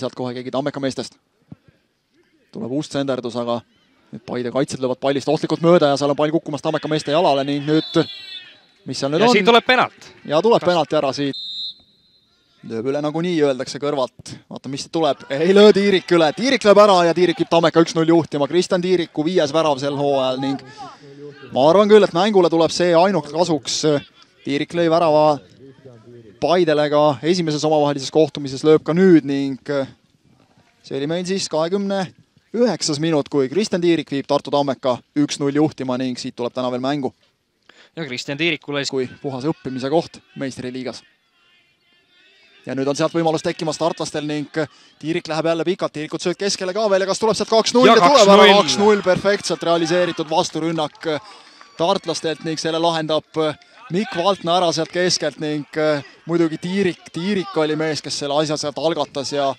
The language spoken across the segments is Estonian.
sealt kohe keegi Tammeka meestest. Tuleb uus tsenderdus, aga nüüd Paide kaitsed löövad pallist ohtlikult mööda ja seal on pall kukkumas Tammeka meeste jalale ning nüüd, mis seal nüüd ja on? siin tuleb penalt. Ja tuleb penalti ära siit. Lööb üle nagu nii, öeldakse kõrvalt. Vaata, mis tuleb. Ei löö Tiirik üle. Tiirik lööb ära ja Tiirik viib Tammeka 1-0 juhtima. Kristjan Tiiriku 5. värav sel hooajal ning ma arvan küll, et mängule tuleb see ainult kasuks. Tiirik lõi värava Paidele ka esimeses omavahelises kohtumises, lööb ka nüüd ning see oli meil siis 29. minut, kui Kristjan Tiirik viib Tartu Tammeka 1-0 juhtima ning siit tuleb täna veel mängu. Ja Kristjan Tiirikule kui puhas õppimise koht meistriliigas. Ja nüüd on sealt võimalus tekkimas tartlastel ning Tiirik läheb jälle pikalt, Tiirikut sööd keskele ka veel ja kas tuleb sealt 2-0 ja tuleb ära 2-0 perfektselt realiseeritud vasturünnak tartlastelt ning selle lahendab Mikk Valtna ära sealt keskelt ning muidugi Tiirik oli mees, kes selle asja sealt algatas ja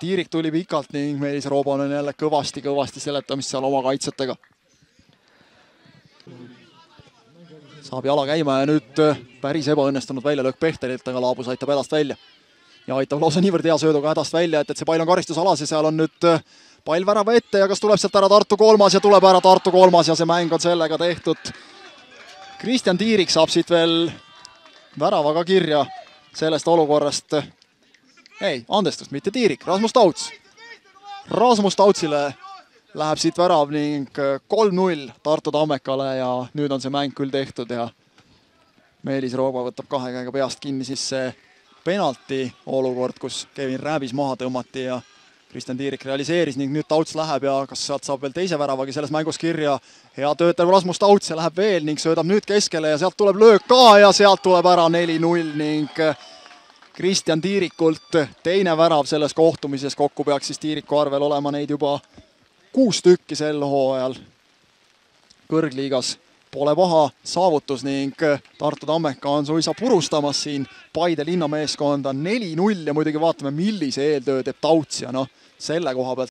Tiirik tuli pikalt ning Meelis Rooban on jälle kõvasti seletamist seal oma kaitsjatega. Saab jala käima ja nüüd päris ebaõnnestunud väljalöök Pehtelilt, aga Laabus aitab hädast välja. Ja aitab lausa niivõrd hea sööduga hädast välja, et see pall on karistusalas ja seal on nüüd pall värava ette ja kas tuleb sealt ära Tartu 3. ja tuleb ära Tartu 3. ja see mäng on sellega tehtud. Kristjan Tiirik saab siit veel väravaga kirja sellest olukorrast. Ei, andestust, mitte Tiirik, Rasmus Tauts. Rasmus Tautsile läheb siit värav ning 3-0 Tartu Tammekale ja nüüd on see mäng küll tehtud ja Meelis Rooba võtab 2 käega peast kinni siis see penalti olukord, kus Kevin Rääbis maha tõmmati ja Kristjan Tiirik realiseeris ning nüüd Tauts läheb ja kas sealt saab veel teise väravagi selles mängus kirja. Hea töötav Rasmus Tauts ja läheb veel ning söödab nüüd keskele ja sealt tuleb löök ka ja sealt tuleb ära 4-0 ning Kristjan Tiirikult teine värav selles kohtumises. Kokku peaks siis Tiiriku arvel olema neid juba 6 tükki sel hooajal. Kõrgliigas pole paha saavutus ning Tartu Tammeka on suisa purustamas siin Paide linnameeskonda 4-0 ja muidugi vaatame, millise eeltöö teeb Tauts ja selle koha pealt